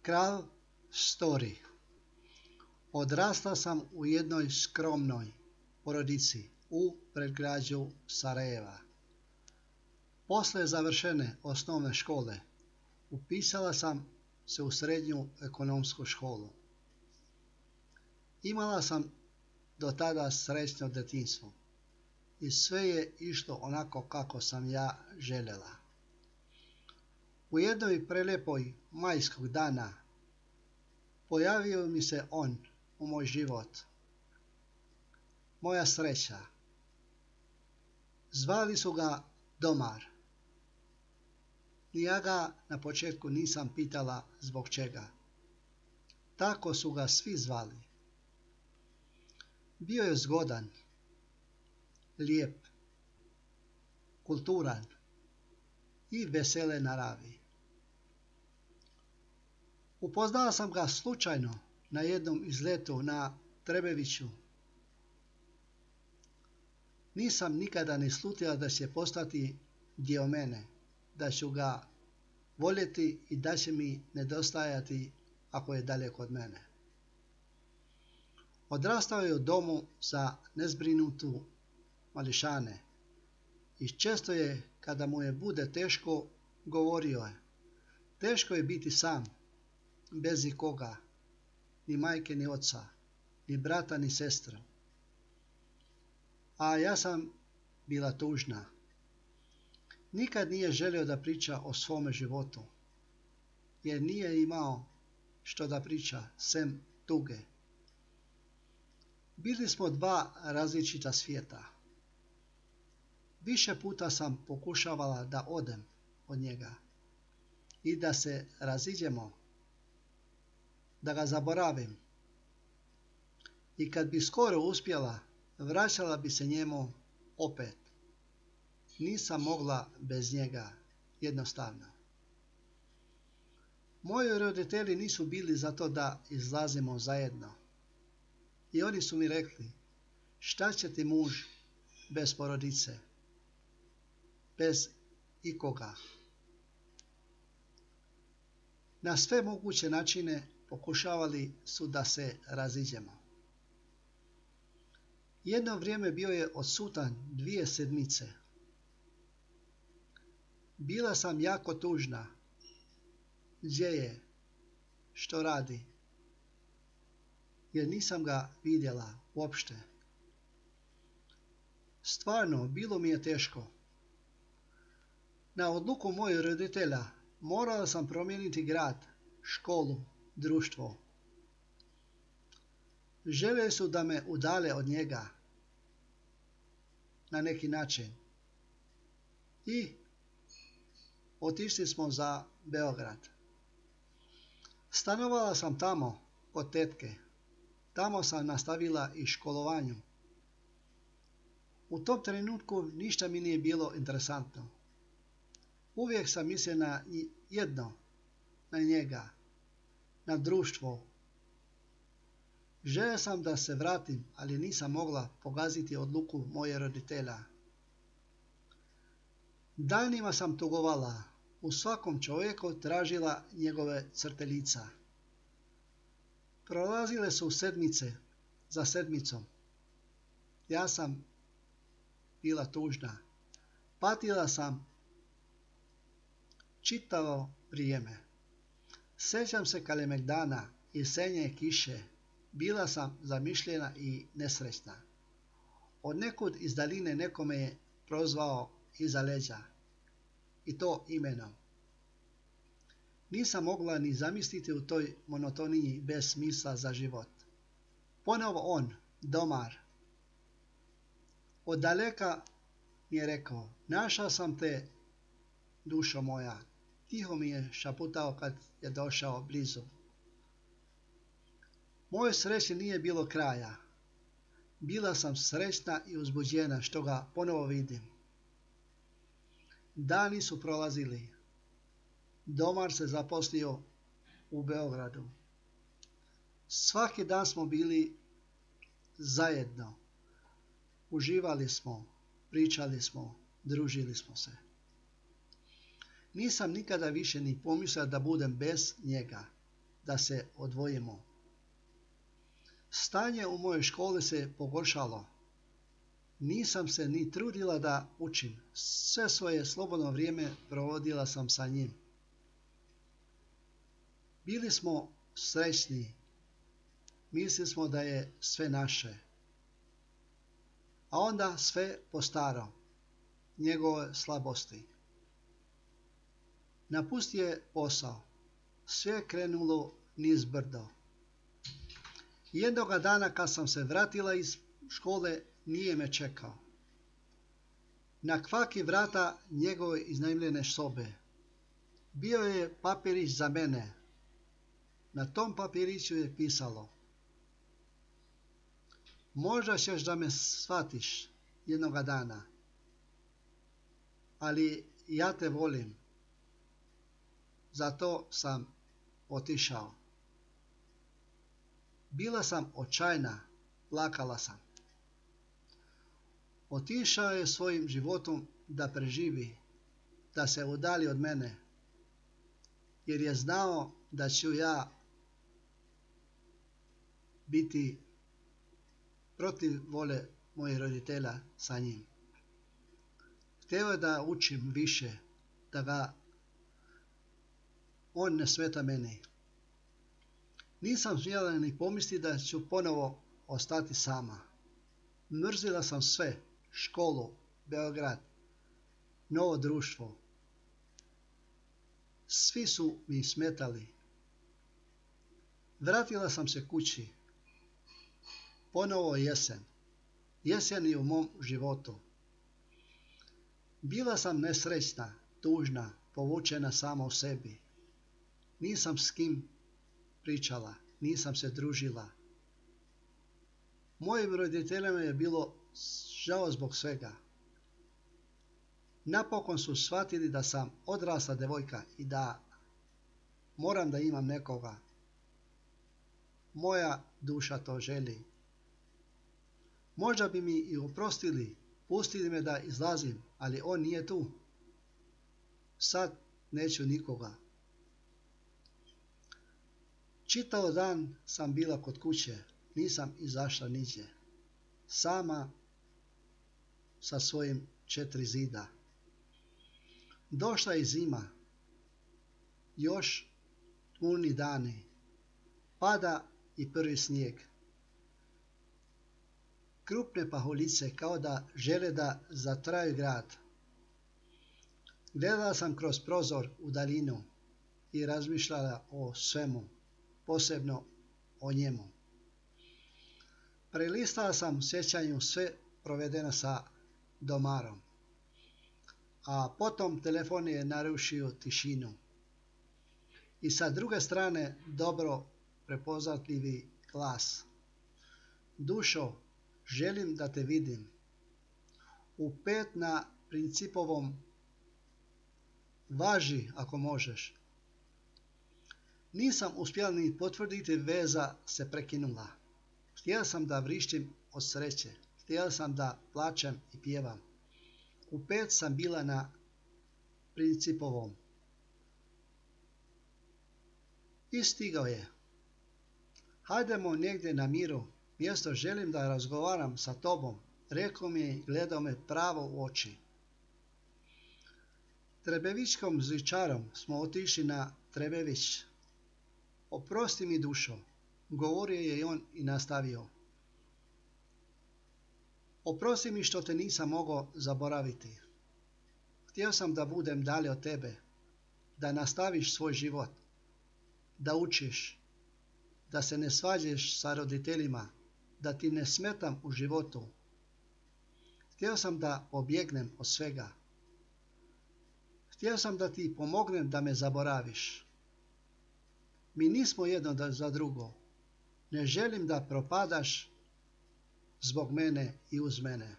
Kralj Story. Odrastao sam u jednoj skromnoj porodici u predgrađu Sarajeva. Posle završene osnovne škole upisala sam se u srednju ekonomsku školu. Imala sam do tada srećno detinjstvo i sve je išlo onako kako sam ja željela. U jednoj prelepoj majskog dana pojavio mi se on u moj život. Moja sreća. Zvali su ga Domar. Ja ga na početku nisam pitala zbog čega. Tako su ga svi zvali. Bio je zgodan, lijep, kulturan i vesele naravi. Upoznala sam ga slučajno na jednom izletu na Trebeviću. Nisam nikada ni slutila da će postati dio mene, da ću ga voljeti i da će mi nedostajati ako je daleko od mene. Odrastao je u domu za nezbrinutu mališane i često je, kada mu je bude teško, govorio je: teško je biti sam, bez nikoga, ni majke ni oca, ni brata ni sestra. A ja sam bila tužna. Nikad nije želio da priča o svome životu, jer nije imao što da priča, sem tuge. Bili smo dva različita svijeta. Više puta sam pokušavala da odem od njega i da se raziđemo, da ga zaboravim. I kad bi skoro uspjela, vraćala bi se njemu opet. Nisam mogla bez njega, jednostavno. Moji roditelji nisu bili za to da izlazimo zajedno. I oni su mi rekli: šta će ti muž bez porodice, bez ikoga? Na sve moguće načine pokušavali su da se raziđemo. Jedno vrijeme bio je odsutan 2 sedmice. Bila sam jako tužna. Gdje je? Što radi? Jer nisam ga vidjela uopšte. Stvarno, bilo mi je teško. Na odluku mojih roditelja morala sam promijeniti grad, školu, društvo. Željeli su da me udale od njega na neki način. I otišli smo za Beograd. Stanovala sam tamo kod tetke. Tamo sam nastavila i školovanju. U tom trenutku ništa mi nije bilo interesantno. Uvijek sam mislila na jedno, na njega, na društvo. Želio sam da se vratim, ali nisam mogla pogaziti odluku moje roditelja. Danima sam tugovala, u svakom čovjeku tražila njegove crte lica. Prolazile su sedmice za sedmicom. Ja sam bila tužna. Patila sam čitavo vrijeme. Sjećam se Kalemegdana i jesenje kiše. Bila sam zamišljena i nesrećna. Od nekud iz daline neko me je prozvao iza leđa. I to imenom. Nisam mogla ni zamisliti u toj monotoniji bez smisla za život. Ponovo on, Domar. Od daleka mi je rekao: našao sam te, dušo moja. Tiho mi je šaputao kad je došao blizu. Moje sreće nije bilo kraja. Bila sam srećna i uzbuđena što ga ponovo vidim. Dani su prolazili. Domar se zaposlio u Beogradu. Svaki dan smo bili zajedno. Uživali smo, pričali smo, družili smo se. Nisam nikada više ni pomislila da budem bez njega, da se odvojimo. Stanje u mojoj školi se pogoršalo. Nisam se ni trudila da učim. Sve svoje slobodno vrijeme provodila sam sa njim. Bili smo srećni. Mislili smo da je sve naše. A onda sve po starom. Njegove slabosti. Napustio je posao. Sve je krenulo niz brdo. Jednoga dana kad sam se vratila iz škole, nije me čekao. Na kvaki vrata njegove iznajmljene sobe. Bio je papirić za mene. Na tom papiriću je pisalo: možda ćeš da me shvatiš jednoga dana, ali ja te volim. Zato sam otišao. Bila sam očajna, plakala sam. Otišao je svojim životom da preživi, da se udalji od mene, jer je znao da ću ja biti protiv vole mojih roditelja sa njim. Htio je da učim više, da ga on ne smeta meni. Nisam smjela ni pomisliti da ću ponovo ostati sama. Mrzila sam sve, školu, Beograd, novo društvo. Svi su mi smetali. Vratila sam se kući. Ponovo jesen. Jesen je u mom životu. Bila sam nesrećna, tužna, povučena sama u sebi. Nisam s kim pričala, nisam se družila. Mojim roditeljima je bilo žao zbog svega. Napokon su shvatili da sam odrasla devojka i da moram da imam nekoga. Moja duša to želi. Možda bi mi i oprostili, pustili me da izlazim, ali on nije tu. Sad neću nikoga. Čitav dan sam bila kod kuće, nisam izašla niđe. Sama sa svojim 4 zida. Došla je zima. Još tmurni dani. Pada i prvi snijeg. Krupne pahuljice kao da žele da zatraju grad. Gledala sam kroz prozor u daljinu i razmišljala o svemu, posebno o njemu. Prelistala sam u sjećanju sve provedeno sa Domarom. A potom telefon je narušio tišinu. I sa druge strane dobro prepoznatljivi glas. Dušo, želim da te vidim. U 5 na Principovom. Važi ako možeš. Nisam uspjela ni potvrditi, veza se prekinula. Htjela sam da vrištim od sreće. Htjela sam da plačem i pjevam. U 5 sam bila na Principovom. I stigao je. Hajdemo negdje na miru. Mjesto, želim da razgovaram sa tobom. Rekao mi je i gledao me pravo u oči. Trebevičkom zičarom smo otišli na Trebević. Oprosti mi, dušo, govorio je on i nastavio. Oprosti mi što te nisam mogao zaboraviti. Htio sam da budem dalje od tebe, da nastaviš svoj život, da učiš, da se ne svađaš sa roditeljima, da ti ne smetam u životu. Htio sam da pobjegnem od svega. Htio sam da ti pomognem da me zaboraviš. Mi nismo jedno za drugo. Ne želim da propadaš zbog mene i uz mene.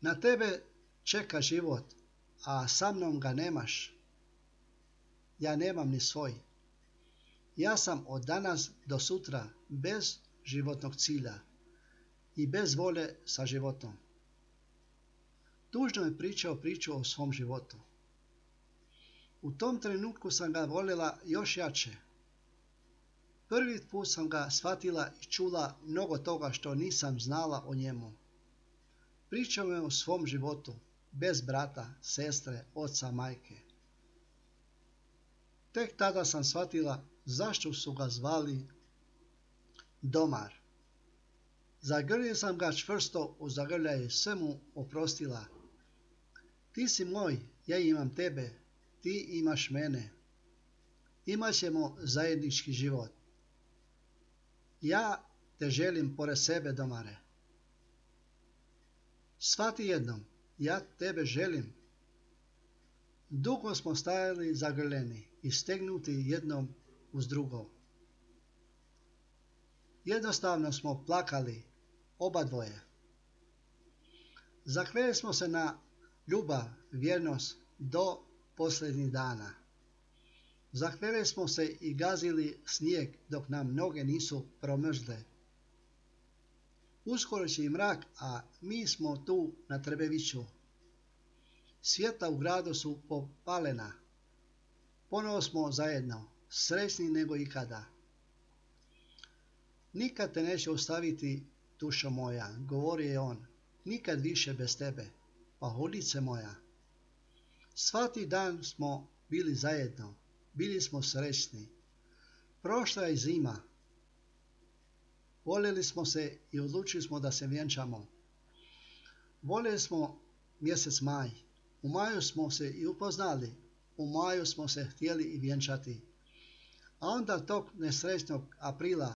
Na tebe čeka život, a sa mnom ga nemaš. Ja nemam ni svoj. Ja sam od danas do sutra bez životnog cilja i bez vole sa životom. Tužno je pričao priču o svom životu. U tom trenutku sam ga voljela još jače. Prvi put sam ga shvatila i čula mnogo toga što nisam znala o njemu. Pričao je o svom životu, bez brata, sestre, oca, majke. Tek tada sam shvatila zašto su ga zvali Domar. Zagrlio sam ga čvrsto u zagrljaj, sve mu oprostila. Ti si moj, ja imam tebe, ti imaš mene. Imat ćemo zajednički život. Ja te želim pored sebe, Domare. Shvati jednom, ja tebe želim. Dugo smo stajali zagrljeni i stegnuti jednom uz drugo. Jednostavno smo plakali, oba dvoje. Zakleli smo se na ljubav, vjernost do posljednjih dana. Zakleli smo se i gazili snijeg dok nam noge nisu promrzle. Uskoro će i mrak, a mi smo tu na Trebeviću. Svjetla u gradu su popalena. Ponovo smo zajedno, srećni nego ikada. Nikad te neće ostaviti, dušo moja, govorio je on, nikad više bez tebe, pahuljice moja. Svaki dan smo bili zajedno, bili smo srećni. Prošla je zima. Voljeli smo se i odlučili smo da se vjenčamo. Voljeli smo mjesec maj. U maju smo se i upoznali. U maju smo se htjeli i vjenčati. A onda tog nesrećnog aprila